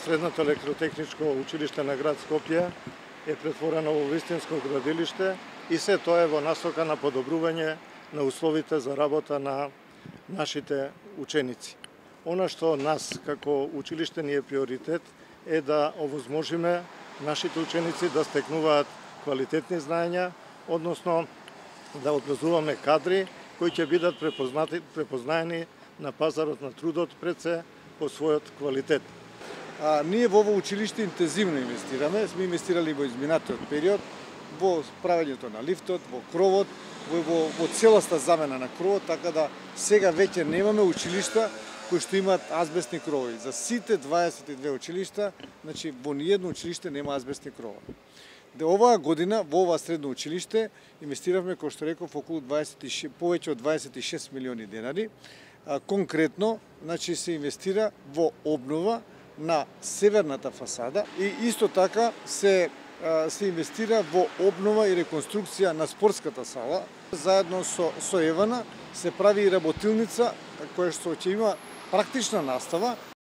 Средното електротехничко училиште на град Скопје е претворено во вистинско градилиште и се тоа е во насока на подобрување на условите за работа на нашите ученици. Она што нас како училиште ни е приоритет е да овозможиме нашите ученици да стекнуваат квалитетни знаења, односно да образуваме кадри кои ќе бидат препознаени на пазарот на трудот пред се по својот квалитет. Ние во ово училиште интензивно инвестираме, сме инвестирали во изминатиот период, во правењето на лифтот, во кровот, во целоста замена на кровот, така да сега веќе немаме училишта кои што имаат азбестни кровови. За сите 22 училишта, значи во ниедно училиште нема азбестни кровови. Оваа година во ова средно училиште инвестиравме, кој што реков, околу повеќе од 26 милиони денари. Конкретно, значи се инвестира во обнова на северната фасада и исто така се инвестира во обнова и реконструкција на спортската сала. Заедно со Евана се прави и работилница која што ќе има практична настава.